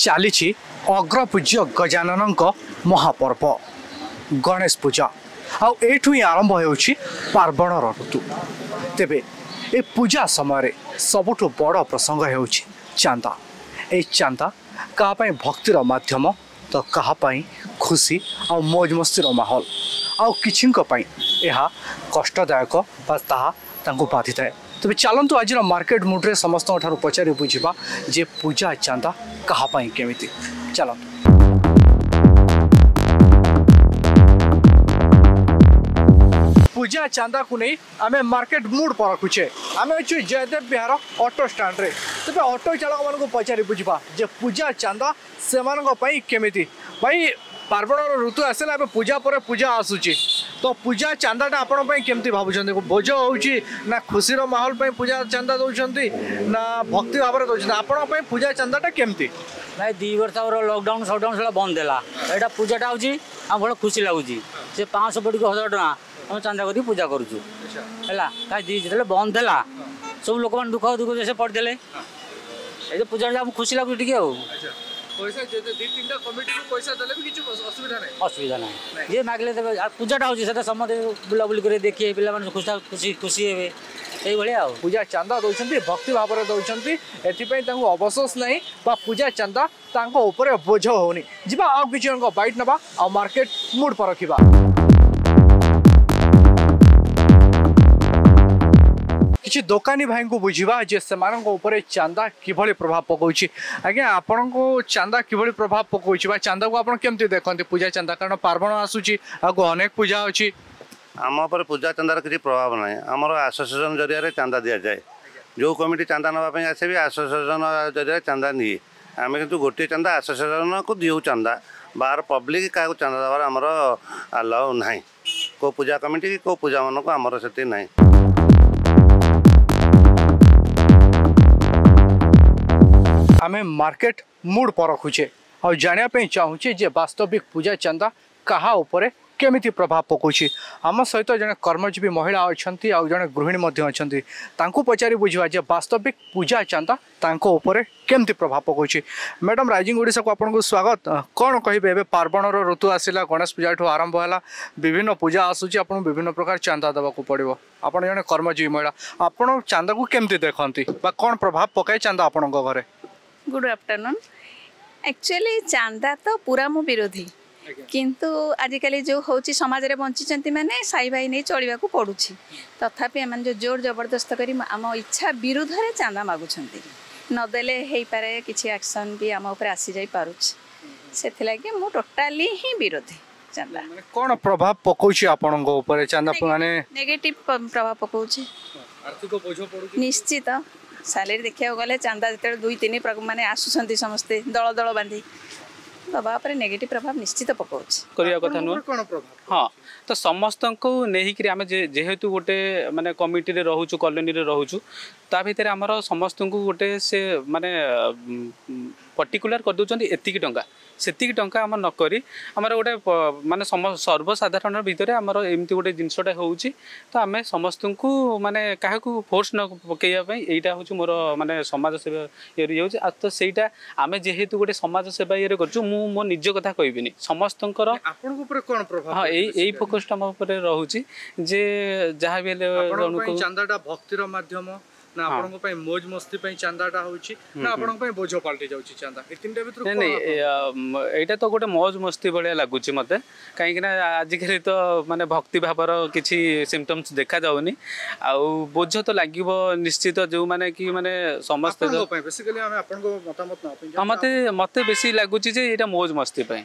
ଚାଲିଛି ଅଗ୍ରପୂଜ୍ୟ ଗଜାନନଙ୍କ ମହାପର୍ବ ଗଣେଶ ପୂଜା। ଆଉ ଏଇଠୁ ହିଁ ଆରମ୍ଭ ହେଉଛି ପାର୍ବଣର ଋତୁ। ତେବେ ଏ ପୂଜା ସମୟରେ ସବୁଠୁ ବଡ଼ ପ୍ରସଙ୍ଗ ହେଉଛି ଚାନ୍ଦା। ଏଇ ଚାନ୍ଦା କାହା ପାଇଁ ଭକ୍ତିର ମାଧ୍ୟମ ତ କାହା ପାଇଁ ଖୁସି ଆଉ ମୌଜ ମସ୍ତିର ମାହୋଲ, ଆଉ କିଛିଙ୍କ ପାଇଁ ଏହା କଷ୍ଟଦାୟକ ବା ତାହା ତାଙ୍କୁ ବାଧିଥାଏ। ତେବେ ଚାଲନ୍ତୁ ଆଜିର ମାର୍କେଟ ମୁଡ୍ରେ ସମସ୍ତଙ୍କ ଠାରୁ ପଚାରି ବୁଝିବା ଯେ ପୂଜା ଚାନ୍ଦା କାହା ପାଇଁ କେମିତି। ଚାଲନ୍ତୁ। ପୂଜା ଚାନ୍ଦାକୁ ନେଇ ଆମେ ମାର୍କେଟ ମୁଡ୍ ପରଖୁଛେ। ଆମେ ଅଛୁ ଜୟଦେବ ବିହାର ଅଟୋ ଷ୍ଟାଣ୍ଡରେ। ତେବେ ଅଟୋ ଚାଳକମାନଙ୍କୁ ପଚାରି ବୁଝିବା ଯେ ପୂଜା ଚାନ୍ଦା ସେମାନଙ୍କ ପାଇଁ କେମିତି। ଭାଇ, ପାର୍ବଣର ଋତୁ ଆସିଲା, ଏବେ ପୂଜା ପରେ ପୂଜା ଆସୁଛି, ତ ପୂଜା ଚାନ୍ଦାଟା ଆପଣଙ୍କ ପାଇଁ କେମିତି ଭାବୁଛନ୍ତି? ବୋଝ ହେଉଛି ନା ଖୁସିର ମାହୋଲ ପାଇଁ ପୂଜା ଚାନ୍ଦା ଦେଉଛନ୍ତି ନା ଭକ୍ତି ଭାବରେ ଦେଉଛନ୍ତି? ଆପଣଙ୍କ ପାଇଁ ପୂଜା ଚାନ୍ଦାଟା କେମିତି? ଭାଇ, 2 ବର୍ଷ ଆମର ଲକଡାଉନ୍ ସଟଡାଉନ୍ ସେଟା ବନ୍ଦ ହେଲା। ଏଇଟା ପୂଜାଟା ହେଉଛି ଆମ ଭଲ ଖୁସି ଲାଗୁଛି। ସେ 500 ପଡ଼ିକି 1000 ଟଙ୍କା ଆମେ ଚାନ୍ଦା କରିକି ପୂଜା କରୁଛୁ। ହେଲା କାହିଁ ଯେତେବେଳେ ବନ୍ଦ ହେଲା ସବୁ ଲୋକମାନେ ଦୁଃଖ ଦୁଃଖ ସେ ପଡ଼ିଥିଲେ। ଏଇ ତ ପୂଜାଟା ଆମକୁ ଖୁସି ଲାଗୁଛି ଟିକେ। ଆଉ ପଇସା ଯେତେ 2 3ଟା କମିଟିକୁ ପଇସା ଦେଲେ ବି କିଛି ଅସୁବିଧା ନାହିଁ? ଅସୁବିଧା ନାହିଁ, ଯିଏ ମାଗିଲେ ଦେବେ। ଆଉ ପୂଜାଟା ହେଉଛି ସେଟା ସମସ୍ତେ ବୁଲାବୁଲି କରି ଦେଖିବେ, ପିଲାମାନେ ଖୁସି ଖୁସି ଖୁସି ହେବେ, ଏଇଭଳିଆ। ଆଉ ପୂଜା ଚାନ୍ଦା ଦେଉଛନ୍ତି ଭକ୍ତି ଭାବରେ ଦେଉଛନ୍ତି, ଏଥିପାଇଁ ତାଙ୍କୁ ଅବଶୋଷ ନାହିଁ ବା ପୂଜା ଚାନ୍ଦା ତାଙ୍କ ଉପରେ ବୋଝ ହେଉନି। ଯିବା ଆଉ କିଛି ଜଣଙ୍କ ବାଇଟ୍ ନେବା ଆଉ ମାର୍କେଟ ମୁଡ୍ ପରଖିବା। କିଛି ଦୋକାନୀ ଭାଇଙ୍କୁ ବୁଝିବା ଯେ ସେମାନଙ୍କ ଉପରେ ଚାନ୍ଦା କିଭଳି ପ୍ରଭାବ ପକାଉଛି। ଆଜ୍ଞା, ଆପଣଙ୍କୁ ଚାନ୍ଦା କିଭଳି ପ୍ରଭାବ ପକାଉଛି ବା ଚାନ୍ଦାକୁ ଆପଣ କେମିତି ଦେଖନ୍ତି ପୂଜା ଚାନ୍ଦା? କାରଣ ପାର୍ବଣ ଆସୁଛି, ଆଗକୁ ଅନେକ ପୂଜା ଅଛି। ଆମ ଉପରେ ପୂଜା ଚାନ୍ଦାର କିଛି ପ୍ରଭାବ ନାହିଁ। ଆମର ଆସୋସିଏସନ୍ ଜରିଆରେ ଚାନ୍ଦା ଦିଆଯାଏ। ଯେଉଁ କମିଟି ଚାନ୍ଦା ନେବା ପାଇଁ ଆସେ ବି ଆସୋସିଏସନ୍ ଜରିଆରେ ଚାନ୍ଦା ନିଏ। ଆମେ କିନ୍ତୁ ଗୋଟିଏ ଚାନ୍ଦା ଆସୋସିଏସନ୍କୁ ଦିଉ ଚାନ୍ଦା, ବାହାର ପବ୍ଲିକ୍ କାହାକୁ ଚାନ୍ଦା ଦେବାର ଆମର ଆଲାଉ ନାହିଁ। କେଉଁ ପୂଜା କମିଟି କି କେଉଁ ପୂଜାମାନଙ୍କୁ ଆମର ସେଠି ନାହିଁ। ଆମେ ମାର୍କେଟ ମୁଡ୍ ପରଖୁଛେ ଆଉ ଜାଣିବା ପାଇଁ ଚାହୁଁଛେ ଯେ ବାସ୍ତବିକ ପୂଜା ଚାନ୍ଦା କାହା ଉପରେ କେମିତି ପ୍ରଭାବ ପକାଉଛି। ଆମ ସହିତ ଜଣେ କର୍ମଜୀବୀ ମହିଳା ଅଛନ୍ତି ଆଉ ଜଣେ ଗୃହିଣୀ ମଧ୍ୟ ଅଛନ୍ତି। ତାଙ୍କୁ ପଚାରି ବୁଝିବା ଯେ ବାସ୍ତବିକ ପୂଜା ଚାନ୍ଦା ତାଙ୍କ ଉପରେ କେମିତି ପ୍ରଭାବ ପକାଉଛି। ମ୍ୟାଡ଼ାମ୍, ରାଇଜିଂ ଓଡ଼ିଶାକୁ ଆପଣଙ୍କୁ ସ୍ୱାଗତ। କ'ଣ କହିବେ, ଏବେ ପାର୍ବଣର ଋତୁ ଆସିଲା, ଗଣେଶ ପୂଜାଠୁ ଆରମ୍ଭ ହେଲା, ବିଭିନ୍ନ ପୂଜା ଆସୁଛି, ଆପଣଙ୍କୁ ବିଭିନ୍ନ ପ୍ରକାର ଚାନ୍ଦା ଦେବାକୁ ପଡ଼ିବ। ଆପଣ ଜଣେ କର୍ମଜୀବୀ ମହିଳା, ଆପଣ ଚାନ୍ଦାକୁ କେମିତି ଦେଖନ୍ତି ବା କ'ଣ ପ୍ରଭାବ ପକାଏ ଚାନ୍ଦା ଆପଣଙ୍କ ଘରେ? Good afternoon. ଆକ୍ଚୁଆଲି ଚାନ୍ଦା ତ ପୁରା ମୁଁ ବିରୋଧୀ, କିନ୍ତୁ ଆଜିକାଲି ଯେଉଁ ହେଉଛି ସମାଜରେ ବଞ୍ଚିଛନ୍ତି ମାନେ ସାଇ ଭାଇ ନେଇ ଚଳିବାକୁ ପଡ଼ୁଛି। ତଥାପି ଏମାନେ ଯେଉଁ ଜୋର ଜବରଦସ୍ତ କରି ଆମ ଇଚ୍ଛା ବିରୁଦ୍ଧରେ ଚାନ୍ଦା ମାଗୁଛନ୍ତି, ନଦେଲେ ହେଇପାରେ କିଛି ଆକ୍ସନ୍ ବି ଆମ ଉପରେ ଆସିଯାଇ ପାରୁଛି। ସେଥିଲାଗି ମୁଁ ଟୋଟାଲି ହିଁ ବିରୋଧୀ ଚାନ୍ଦା। କ'ଣ ପ୍ରଭାବ ପକାଉଛି ଆପଣଙ୍କ ଉପରେ ଚାନ୍ଦା? ମାନେ ନେଗେଟିଭ୍ ପ୍ରଭାବ ପକାଉଛି, ଆର୍ଥିକ ବୋଝ ପଡ଼ୁଛି ନିଶ୍ଚିତ। ସାଲେରୀ ଦେଖିବାକୁ ଗଲେ ଚାନ୍ଦା ଯେତେବେଳେ 2 3 ମାନେ ଆସୁଛନ୍ତି ସମସ୍ତେ ଦଳ ଦଳ ବାନ୍ଧି, ଦବା ଉପରେ ନେଗେଟିଭ୍ ପ୍ରଭାବ ନିଶ୍ଚିତ ପକାଉଛି। କରିବା କଥା ନୁହଁ। କ'ଣ ପ୍ରଭାବ? ହଁ, ତ ସମସ୍ତଙ୍କୁ ନେଇକିରି ଆମେ ଯେହେତୁ ଗୋଟେ ମାନେ କମିଟିରେ ରହୁଛୁ, କଲୋନୀରେ ରହୁଛୁ, ତା ଭିତରେ ଆମର ସମସ୍ତଙ୍କୁ ଗୋଟେ ସେ ମାନେ ପର୍ଟିକୁଲାର କରିଦେଉଛନ୍ତି ଏତିକି ଟଙ୍କା ସେତିକି ଟଙ୍କା ଆମର ନ କରି ଆମର ଗୋଟେ ମାନେ ସର୍ବସାଧାରଣ ଭିତରେ ଆମର ଏମିତି ଗୋଟେ ଜିନିଷଟା ହେଉଛି। ତ ଆମେ ସମସ୍ତଙ୍କୁ ମାନେ କାହାକୁ ଫୋର୍ସ ନ ପକାଇବା ପାଇଁ ଏଇଟା ହେଉଛି ମୋର ମାନେ ସମାଜ ସେବା ଇଏରେ ହେଉଛି। ଆଉ ତ ସେଇଟା ଆମେ ଯେହେତୁ ଗୋଟେ ସମାଜ ସେବା ଇଏରେ କରୁଛୁ, ମୁଁ ମୋ ନିଜ କଥା କହିବିନି, ସମସ୍ତଙ୍କର ଆପଣଙ୍କ ଉପରେ କ'ଣ ପ୍ରଭାବ? ହଁ, ଏଇ ଫୋକସ୍ଟା ମୋ ଉପରେ ରହୁଛି ଯେ ଯାହା ବି ହେଲେ ଜଣକୁ ଚାନ୍ଦାଟା ଭକ୍ତିର ମାଧ୍ୟମ ନା ଆପଣଙ୍କ ପାଇଁ ମୌଜ ମସ୍ତି ପାଇଁ ଚାନ୍ଦାଟା ହେଉଛି ନା ଆପଣଙ୍କ ପାଇଁ ବୋଝ ପାଲଟି ଯାଉଛି ଚାନ୍ଦା? ଏ ତିନିଟା ଭିତରୁ ନାଇଁ, ଏଇଟା ତ ଗୋଟେ ମୌଜ ମସ୍ତି ଭଳିଆ ଲାଗୁଛି ମୋତେ। କାହିଁକିନା ଆଜିକାଲି ତ ମାନେ ଭକ୍ତି ଭାବର କିଛି ସିମ୍ପଟମ୍ସ ଦେଖାଯାଉନି, ଆଉ ବୋଝ ତ ଲାଗିବ ନିଶ୍ଚିତ। ଯେଉଁମାନେ କି ମାନେ ସମସ୍ତେ ବେସିକାଲି ଆମେ ଆପଣଙ୍କ ମତାମତ ନେବା। ମୋତେ ବେଶୀ ଲାଗୁଛି ଯେ ଏଇଟା ମୌଜ ମସ୍ତି ପାଇଁ।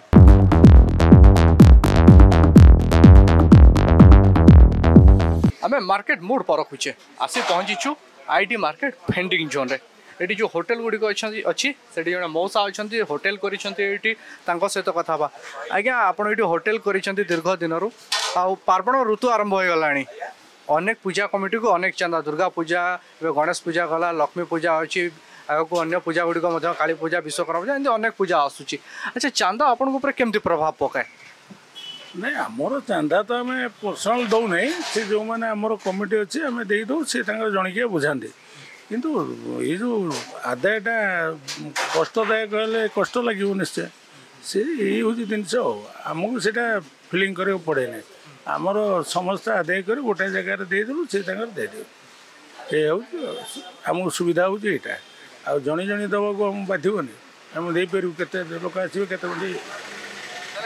ଆମେ ମାର୍କେଟ ମୁଡ୍ ପରଖୁଛେ, ଆସି ପହଞ୍ଚିଛୁ IT market vending ଜୋନ୍ରେ। ଏଠି ଯେଉଁ ହୋଟେଲ ଗୁଡ଼ିକ ଅଛନ୍ତି ଅଛି, ସେଠି ଜଣେ ମଉସା ଅଛନ୍ତି, ହୋଟେଲ କରିଛନ୍ତି ଏଇଠି, ତାଙ୍କ ସହିତ କଥା ହେବା। ଆଜ୍ଞା, ଆପଣ ଏଇଠି ହୋଟେଲ କରିଛନ୍ତି ଦୀର୍ଘ ଦିନରୁ, ଆଉ ପାର୍ବଣ ଋତୁ ଆରମ୍ଭ ହୋଇଗଲାଣି, ଅନେକ ପୂଜା କମିଟିକୁ ଅନେକ ଚାନ୍ଦା, ଦୁର୍ଗା ପୂଜା, ଏବେ ଗଣେଶ ପୂଜା ଗଲା, ଲକ୍ଷ୍ମୀ ପୂଜା ଅଛି, ଆଗକୁ ଅନ୍ୟ ପୂଜା ଗୁଡ଼ିକ ମଧ୍ୟ, କାଳୀ ପୂଜା, ବିଶ୍ୱକର୍ମା ପୂଜା, ଏମିତି ଅନେକ ପୂଜା ଆସୁଛି। ଆଚ୍ଛା, ଚାନ୍ଦା ଆପଣଙ୍କ ଉପରେ କେମିତି ପ୍ରଭାବ ପକାଏ? ନାଇଁ, ଆମର ଚାନ୍ଦା ତ ଆମେ ପର୍ସନାଲ ଦେଉନାହିଁ। ସେ ଯେଉଁମାନେ ଆମର କମିଟି ଅଛି ଆମେ ଦେଇଦେଉ, ସେ ତାଙ୍କର ଜଣିକିଆ ବୁଝାନ୍ତି। କିନ୍ତୁ ଏଇ ଯେଉଁ ଆଦାୟଟା କଷ୍ଟଦାୟକ ହେଲେ କଷ୍ଟ ଲାଗିବ ନିଶ୍ଚୟ। ସେ ଏଇ ହେଉଛି ଜିନିଷ। ଆଉ ଆମକୁ ସେଇଟା ଫିଲିଂ କରିବାକୁ ପଡ଼େନି। ଆମର ସମସ୍ତେ ଆଦାୟ କରି ଗୋଟେ ଜାଗାରେ ଦେଇଦେଲୁ, ସେ ତାଙ୍କର ଦେଇଦେବେ। ଏ ହେଉଛି ଆମକୁ ସୁବିଧା ହେଉଛି ଏଇଟା। ଆଉ ଜଣେ ଜଣେ ଦେବାକୁ ଆମକୁ ବାଧିବନି, ଆମେ ଦେଇପାରିବୁ। କେତେ ଲୋକ ଆସିବେ, କେତେ ବଣ୍ଟି।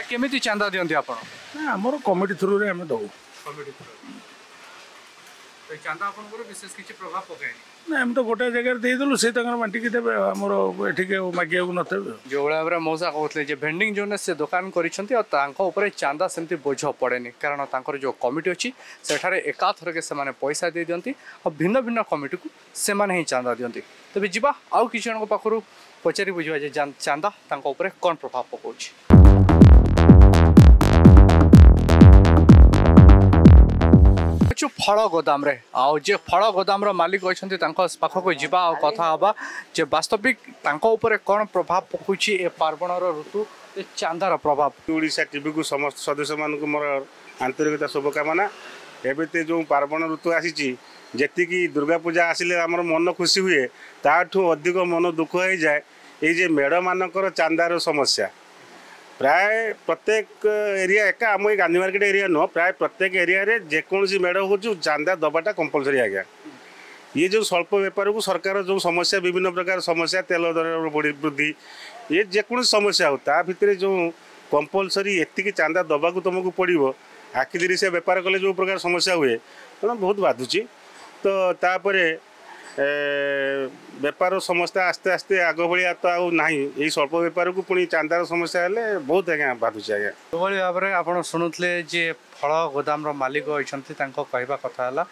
କେମିତି ଚାନ୍ଦା ଦିଅନ୍ତି ଆପଣ? ନା, ଆମର କମିଟି ଥ୍ରୁରେ ଆମେ ଦେଉ। ଚାନ୍ଦା ଆପଣଙ୍କର ବିଶେଷ କିଛି ପ୍ରଭାବ ପକାଏନି? ନା, ଆମେ ତ ଗୋଟେ ଜାଗାରେ ଦେଇଦେଲୁ, ସେ ତାଙ୍କର ବାଣ୍ଟିକି ଦେବେ। ଆମର ଏଠିକି ଆଉ ମାଗିବାକୁ ନଥିବେ। ଯେଉଁଭଳି ଭାବରେ ମଉସା କହୁଥିଲେ ଯେ ଭେଣ୍ଡିଂ ଜୋନ୍ରେ ସେ ଦୋକାନ କରିଛନ୍ତି ଆଉ ତାଙ୍କ ଉପରେ ଚାନ୍ଦା ସେମିତି ବୋଝ ପଡ଼େନି, କାରଣ ତାଙ୍କର ଯେଉଁ କମିଟି ଅଛି ସେଠାରେ ଏକାଥରକେ ସେମାନେ ପଇସା ଦେଇ ଦିଅନ୍ତି ଆଉ ଭିନ୍ନ ଭିନ୍ନ କମିଟିକୁ ସେମାନେ ହିଁ ଚାନ୍ଦା ଦିଅନ୍ତି। ତେବେ ଯିବା ଆଉ କିଛି ଜଣଙ୍କ ପାଖରୁ ପଚାରି ବୁଝିବା ଯେ ଚାନ୍ଦା ତାଙ୍କ ଉପରେ କ'ଣ ପ୍ରଭାବ ପକାଉଛି। ଫଳ ଗୋଦାମରେ ଆଉ ଯେ ଫଳ ଗୋଦାମର ମାଲିକ ଅଛନ୍ତି ତାଙ୍କ ପାଖକୁ ଯିବା ଆଉ କଥା ହେବା ଯେ ବାସ୍ତବିକ ତାଙ୍କ ଉପରେ କ'ଣ ପ୍ରଭାବ ପକାଉଛି ଏ ପାର୍ବଣର ଋତୁ, ଏ ଚାନ୍ଦାର ପ୍ରଭାବ। ଓଡ଼ିଶା ଟିଭିକୁ ସମସ୍ତ ସଦସ୍ୟମାନଙ୍କୁ ମୋର ଆନ୍ତରିକତା ଶୁଭକାମନା। ଏବେ ତ ଯେଉଁ ପାର୍ବଣ ଋତୁ ଆସିଛି, ଯେତିକି ଦୁର୍ଗା ପୂଜା ଆସିଲେ ଆମର ମନ ଖୁସି ହୁଏ, ତାଠୁ ଅଧିକ ମନ ଦୁଃଖ ହେଇଯାଏ ଏଇ ଯେ ମେଢ଼ମାନଙ୍କର ଚାନ୍ଦାର ସମସ୍ୟା। ପ୍ରାୟ ପ୍ରତ୍ୟେକ ଏରିଆ, ଏକା ଆମ ଏଇ ଗାନ୍ଧୀ ମାର୍କେଟ ଏରିଆ ନୁହଁ, ପ୍ରାୟ ପ୍ରତ୍ୟେକ ଏରିଆରେ ଯେକୌଣସି ମେଢ଼ ହେଉଛି ଚାନ୍ଦା ଦେବାଟା କମ୍ପଲସରି ଆଜ୍ଞା। ଇଏ ଯେଉଁ ସ୍ୱଳ୍ପ ବେପାରକୁ ସରକାର ଯେଉଁ ସମସ୍ୟା, ବିଭିନ୍ନ ପ୍ରକାର ସମସ୍ୟା, ତେଲ ଦର ବୃଦ୍ଧି, ଇଏ ଯେକୌଣସି ସମସ୍ୟା ହେଉ, ତା ଭିତରେ ଯେଉଁ କମ୍ପଲସରି ଏତିକି ଚାନ୍ଦା ଦେବାକୁ ତୁମକୁ ପଡ଼ିବ, ଆଖି ସେ ବେପାର କଲେ ଯେଉଁ ପ୍ରକାର ସମସ୍ୟା ହୁଏ, ତେଣୁ ବହୁତ ବାଧୁଛି। ତ ତାପରେ ବେପାର ସମସ୍ତେ ଆସ୍ତେ ଆସ୍ତେ ଆଗ ଭଳିଆ ତ ଆଉ ନାହିଁ। ଏଇ ସ୍ୱଳ୍ପ ବେପାରକୁ ପୁଣି ଚାନ୍ଦାର ସମସ୍ୟା ହେଲେ ବହୁତ ଆଜ୍ଞା ବାଧୁଛି ଆଜ୍ଞା। ଯେଉଁଭଳି ଭାବରେ ଆପଣ ଶୁଣୁଥିଲେ ଯେ ଫଳ ଗୋଦାମର ମାଲିକ ଅଛନ୍ତି, ତାଙ୍କ କହିବା କଥା ହେଲା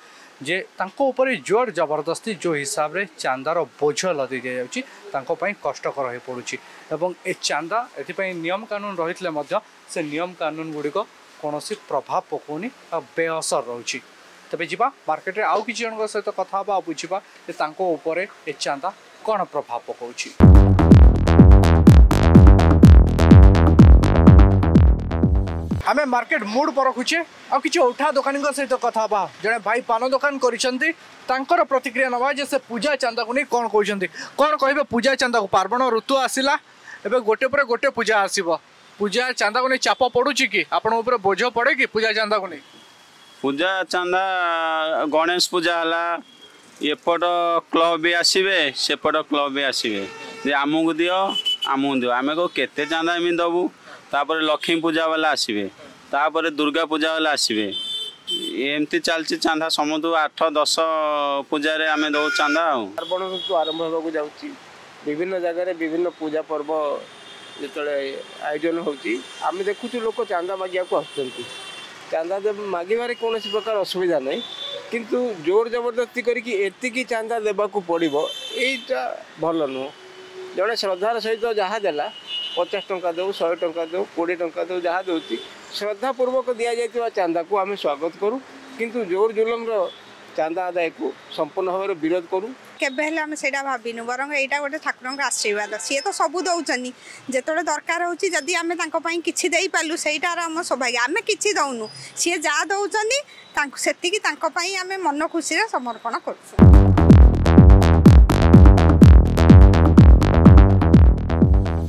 ଯେ ତାଙ୍କ ଉପରେ ଜୋର ଜବରଦସ୍ତି ଯେଉଁ ହିସାବରେ ଚାନ୍ଦାର ବୋଝ ଲଦି ଦିଆଯାଉଛି ତାଙ୍କ ପାଇଁ କଷ୍ଟକର ହୋଇପଡ଼ୁଛି। ଏବଂ ଏ ଚାନ୍ଦା ଏଥିପାଇଁ ନିୟମ କାନୁନ ରହିଥିଲେ ମଧ୍ୟ ସେ ନିୟମ କାନୁନ ଗୁଡ଼ିକ କୌଣସି ପ୍ରଭାବ ପକାଉନି ଆଉ ବେଅସର ରହୁଛି। ତେବେ ଯିବା ମାର୍କେଟରେ ଆଉ କିଛି ଜଣଙ୍କ ସହିତ କଥା ହେବା ଆଉ ବୁଝିବା ଯେ ତାଙ୍କ ଉପରେ ଏ ଚାନ୍ଦା କ'ଣ ପ୍ରଭାବ ପକାଉଛି। ଆମେ ମାର୍କେଟ ମୁଡ୍ ପରଖୁଛେ ଆଉ କିଛି ଉଠା ଦୋକାନୀଙ୍କ ସହିତ କଥା ହେବା। ଜଣେ ଭାଇ ପାନ ଦୋକାନ କରିଛନ୍ତି, ତାଙ୍କର ପ୍ରତିକ୍ରିୟା ନେବା ଯେ ସେ ପୂଜା ଚାନ୍ଦାକୁ ନେଇ କ'ଣ କହୁଛନ୍ତି। କ'ଣ କହିବେ ପୂଜା ଚାନ୍ଦାକୁ? ପାର୍ବଣ ଋତୁ ଆସିଲା, ଏବେ ଗୋଟେ ପରେ ଗୋଟେ ପୂଜା ଆସିବ। ପୂଜା ଚାନ୍ଦାକୁ ନେଇ ଚାପ ପଡ଼ୁଛି କି ଆପଣଙ୍କ ଉପରେ? ବୋଝ ପଡ଼େ କି ପୂଜା ଚାନ୍ଦାକୁ ନେଇ? ପୂଜା ଚାନ୍ଦା, ଗଣେଶ ପୂଜା ହେଲା, ଏପଟ କ୍ଲବ୍ ବି ଆସିବେ, ସେପଟ କ୍ଲବ୍ ବି ଆସିବେ ଯେ ଆମକୁ ଦିଅ, ଆମକୁ ଦିଅ। ଆମେ କହୁ କେତେ ଚାନ୍ଦା ଏମିତି ଦେବୁ। ତାପରେ ଲକ୍ଷ୍ମୀ ପୂଜା ବାଲା ଆସିବେ, ତାପରେ ଦୁର୍ଗା ପୂଜା ବାଲା ଆସିବେ, ଏମିତି ଚାଲିଛି ଚାନ୍ଦା। ସମସ୍ତଙ୍କୁ 8 10 ପୂଜାରେ ଆମେ ଦେଉ ଚାନ୍ଦା। ଆଉ ପାର୍ବଣ ଋତୁ ଆରମ୍ଭ ହେବାକୁ ଯାଉଛି, ବିଭିନ୍ନ ଜାଗାରେ ବିଭିନ୍ନ ପୂଜା ପର୍ବ ଯେତେବେଳେ ଆୟୋଜନ ହେଉଛି, ଆମେ ଦେଖୁଛୁ ଲୋକ ଚାନ୍ଦା ମାଗିବାକୁ ଆସୁଛନ୍ତି। ଚାନ୍ଦା ମାଗିବାରେ କୌଣସି ପ୍ରକାର ଅସୁବିଧା ନାହିଁ, କିନ୍ତୁ ଜୋର ଜବରଦସ୍ତି କରିକି ଏତିକି ଚାନ୍ଦା ଦେବାକୁ ପଡ଼ିବ, ଏଇଟା ଭଲ ନୁହଁ। ଜଣେ ଶ୍ରଦ୍ଧାର ସହିତ ଯାହା ଦେଲା, 50 ଟଙ୍କା ଦେଉ, 100 ଟଙ୍କା ଦେଉ, 20 ଟଙ୍କା ଦେଉ, ଯାହା ଦେଉଛି, ଶ୍ରଦ୍ଧାପୂର୍ବକ ଦିଆଯାଇଥିବା ଚାନ୍ଦାକୁ ଆମେ ସ୍ୱାଗତ କରୁ, କିନ୍ତୁ ଜୋର ଜୁଲମର ଚାନ୍ଦା ଆଦାୟକୁ ସମ୍ପୂର୍ଣ୍ଣ ଭାବରେ ବିରୋଧ କରୁ। କେବେ ହେଲେ ଆମେ ସେଇଟା ଭାବିନୁ, ବରଂ ଏଇଟା ଗୋଟେ ଠାକୁରଙ୍କ ଆଶୀର୍ବାଦ। ସିଏ ତ ସବୁ ଦେଉଛନ୍ତି, ଯେତେବେଳେ ଦରକାର ହେଉଛି ଯଦି ଆମେ ତାଙ୍କ ପାଇଁ କିଛି ଦେଇପାରିଲୁ ସେଇଟାର ଆମ ସୌଭାଗ୍ୟ। ଆମେ କିଛି ଦେଉନୁ, ସିଏ ଯାହା ଦେଉଛନ୍ତି ତାଙ୍କୁ ସେତିକି ତାଙ୍କ ପାଇଁ ଆମେ ମନ ଖୁସିରେ ସମର୍ପଣ କରୁଛୁ।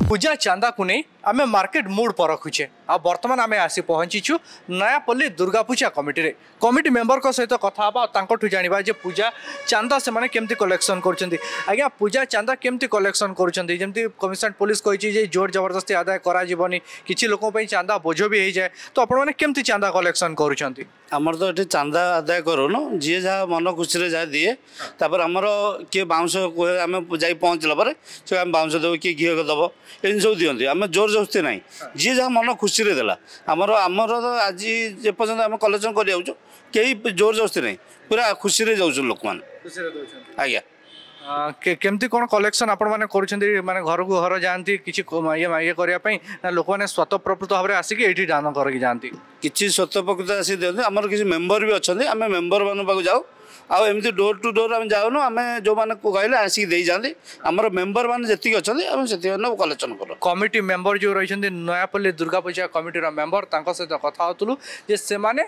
ପୂଜା ଚାନ୍ଦାକୁ ନେଇ ଆମେ ମାର୍କେଟ ମୁଡ୍ ପରଖୁଛେ ଆଉ ବର୍ତ୍ତମାନ ଆମେ ଆସି ପହଞ୍ଚିଛୁ ନୟାପଲ୍ଲୀ ଦୁର୍ଗା ପୂଜା କମିଟିରେ। କମିଟି ମେମ୍ବରଙ୍କ ସହିତ କଥା ହେବା ଆଉ ତାଙ୍କଠୁ ଜାଣିବା ଯେ ପୂଜା ଚାନ୍ଦା ସେମାନେ କେମିତି କଲେକ୍ସନ୍ କରୁଛନ୍ତି। ଆଜ୍ଞା, ପୂଜା ଚାନ୍ଦା କେମିତି କଲେକ୍ସନ୍ କରୁଛନ୍ତି? ଯେମିତି କମିଶନ ପୋଲିସ କହିଛି ଯେ ଜୋର ଜବରଦସ୍ତି ଆଦାୟ କରାଯିବନି, କିଛି ଲୋକଙ୍କ ପାଇଁ ଚାନ୍ଦା ବୋଝ ବି ହେଇଯାଏ, ତ ଆପଣମାନେ କେମିତି ଚାନ୍ଦା କଲେକ୍ସନ୍ କରୁଛନ୍ତି? ଆମର ତ ଏଠି ଚାନ୍ଦା ଆଦାୟ କରୁନୁ, ଯିଏ ଯାହା ମନ ଖୁସିରେ ଯାହା ଦିଏ। ତାପରେ ଆମର କିଏ ବାଉଁଶ କୁହେ, ଆମେ ଯାଇ ପହଞ୍ଚିଲା ପରେ ସେ ଆମେ ବାଉଁଶ ଦେବୁ, କିଏ ଘିଅ ଦେବ, ଏମିତି ସବୁ ଦିଅନ୍ତି। ଆମେ ଜୋର ଜବରଦସ୍ତି ନାହିଁ, ଯିଏ ଯାହା ମନ ଖୁସିରେ ଦେଲା। ଆମର ଆମର ତ ଆଜି ଯେପର୍ଯ୍ୟନ୍ତ ଆମେ କଲେକ୍ସନ୍ କରି ଯାଉଛୁ, କେହି ଜୋର ଜବରଦସ୍ତି ନାହିଁ, ପୁରା ଖୁସିରେ ଯାଉଛନ୍ତି ଲୋକମାନେ। ଖୁସିରେ ଦେଉଛନ୍ତି। ଆଜ୍ଞା। କେମିତି କ'ଣ କଲେକ୍ସନ୍ ଆପଣମାନେ କରୁଛନ୍ତି? ମାନେ ଘରକୁ ଘର ଯାଆନ୍ତି କିଛି ଇଏ କରିବା ପାଇଁ, ନା ଲୋକମାନେ ସ୍ୱତଃପ୍ରବୃତ୍ତ ଭାବରେ ଆସିକି ଏଇଠି ଦାନ କରିକି ଯାଆନ୍ତି? କିଛି ସ୍ୱତଃପ୍ରକୃତ ଆସିକି ଦିଅନ୍ତି। ଆମର କିଛି ମେମ୍ବର ବି ଅଛନ୍ତି, ଆମେ ମେମ୍ବରମାନଙ୍କ ପାଖକୁ ଯାଉ। ଆଉ ଏମିତି ଡୋର୍ ଟୁ ଡୋର୍ ଆମେ ଯାଉନୁ, ଆମେ ଯେଉଁମାନେ କହିଲେ ଆସିକି ଦେଇଯାଆନ୍ତି। ଆମର ମେମ୍ବର ମାନେ ଯେତିକି ଅଛନ୍ତି ଆମେ ସେତିକି କଲେକ୍ସନ୍ କରୁ। କମିଟି ମେମ୍ବର ଯେଉଁ ରହିଛନ୍ତି ନୟାପଲ୍ଲୀ ଦୁର୍ଗା ପୂଜା କମିଟିର ମେମ୍ବର, ତାଙ୍କ ସହିତ କଥା ହେଉଥିଲୁ ଯେ ସେମାନେ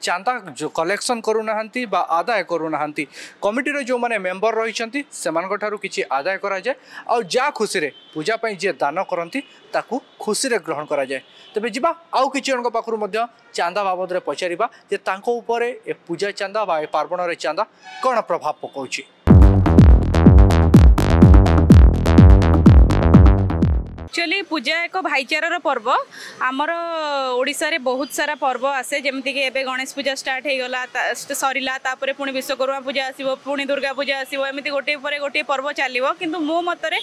ଚାନ୍ଦା କଲେକ୍ସନ୍ କରୁନାହାନ୍ତି ବା ଆଦାୟ କରୁନାହାନ୍ତି। କମିଟିର ଯେଉଁମାନେ ମେମ୍ବର ରହିଛନ୍ତି, ସେମାନଙ୍କ ଠାରୁ କିଛି ଆଦାୟ କରାଯାଏ ଆଉ ଯାହା ଖୁସିରେ ପୂଜା ପାଇଁ ଯିଏ ଦାନ କରନ୍ତି, ତାକୁ ଖୁସିରେ ଗ୍ରହଣ କରାଯାଏ। ତେବେ ଯିବା, ଆଉ କିଛି ଜଣଙ୍କ ପାଖରୁ ମଧ୍ୟ ଚାନ୍ଦା ବାବଦରେ ପଚାରିବା ଯେ ତାଙ୍କ ଉପରେ ଏ ପୂଜା ଚାନ୍ଦା ବା ଏ ପାର୍ବଣରେ ଚାନ୍ଦା କ'ଣ ପ୍ରଭାବ ପକାଉଛି। ଆକ୍ଚୁଆଲି ପୂଜା ଏକ ଭାଇଚାରାର ପର୍ବ। ଆମର ଓଡ଼ିଶାରେ ବହୁତ ସାରା ପର୍ବ ଆସେ, ଯେମିତିକି ଏବେ ଗଣେଶ ପୂଜା ଷ୍ଟାର୍ଟ ହେଇଗଲା, ସରିଲା, ତାପରେ ପୁଣି ବିଶ୍ୱକର୍ମା ପୂଜା ଆସିବ, ପୁଣି ଦୁର୍ଗା ପୂଜା ଆସିବ। ଏମିତି ଗୋଟିଏ ପରେ ଗୋଟିଏ ପର୍ବ ଚାଲିବ। କିନ୍ତୁ ମୋ ମତରେ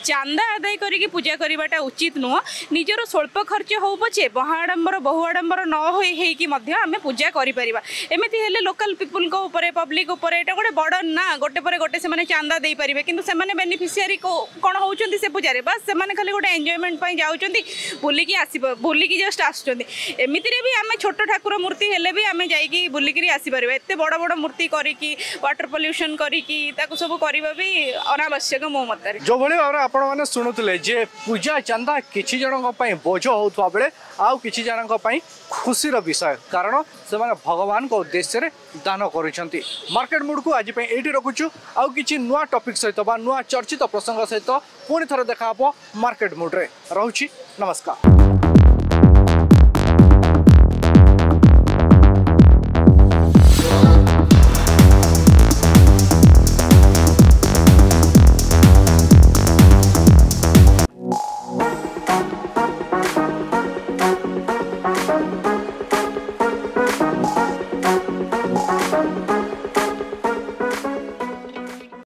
ଚାନ୍ଦା ଆଦାୟ କରିକି ପୂଜା କରିବାଟା ଉଚିତ ନୁହଁ। ନିଜର ସ୍ୱଳ୍ପ ଖର୍ଚ୍ଚ ହଉ ପଛେ, ମହା ଆଡ଼ମ୍ବର, ବହୁ ଆଡ଼ମ୍ବର ନ ହୋଇ ହେଇକି ମଧ୍ୟ ଆମେ ପୂଜା କରିପାରିବା। ଏମିତି ହେଲେ ଲୋକାଲ ପିପୁଲଙ୍କ ଉପରେ, ପବ୍ଲିକ ଉପରେ ଏଇଟା ଗୋଟେ ବର୍ଡ଼ନ ନା। ଗୋଟେ ପରେ ଗୋଟେ ସେମାନେ ଚାନ୍ଦା ଦେଇପାରିବେ, କିନ୍ତୁ ସେମାନେ ବେନିଫିସିଆରୀ କ'ଣ ହେଉଛନ୍ତି ସେ ପୂଜାରେ? ବାସ୍, ସେମାନେ ଖାଲି ଗୋଟେ ଏନ୍ଜୟମେଣ୍ଟ ପାଇଁ ଯାଉଛନ୍ତି, ବୁଲିକି ଆସିବ, ବୁଲିକି ଜଷ୍ଟ ଆସୁଛନ୍ତି। ଏମିତିରେ ବି ଆମେ ଛୋଟ ଠାକୁର ମୂର୍ତ୍ତି ହେଲେ ବି ଆମେ ଯାଇକି ବୁଲିକିରି ଆସିପାରିବା। ଏତେ ବଡ଼ ବଡ଼ ମୂର୍ତ୍ତି କରିକି, ୱାଟର ପଲ୍ୟୁସନ୍ କରିକି, ତାକୁ ସବୁ କରିବା ବି ଅନାବଶ୍ୟକ ମୋ ମତରେ। ଯେଉଁଭଳି ଭାବରେ ଆପଣମାନେ ଶୁଣୁଥିଲେ ଯେ ପୂଜା ଚାନ୍ଦା କିଛି ଜଣଙ୍କ ପାଇଁ ବୋଝ ହେଉଥିବା ବେଳେ ଆଉ କିଛି ଜଣଙ୍କ ପାଇଁ ଖୁସିର ବିଷୟ, କାରଣ ସେମାନେ ଭଗବାନଙ୍କ ଉଦ୍ଦେଶ୍ୟରେ ଦାନ କରୁଛନ୍ତି। ମାର୍କେଟ ମୁଡକୁ ଆଜି ପାଇଁ ଏଇଠି ରଖୁଛୁ। ଆଉ କିଛି ନୂଆ ଟପିକ୍ ସହିତ ବା ନୂଆ ଚର୍ଚ୍ଚିତ ପ୍ରସଙ୍ଗ ସହିତ ପୁଣି ଥରେ ଦେଖା ହେବ ମାର୍କେଟ ମୁଡରେ। ରହୁଛି, ନମସ୍କାର।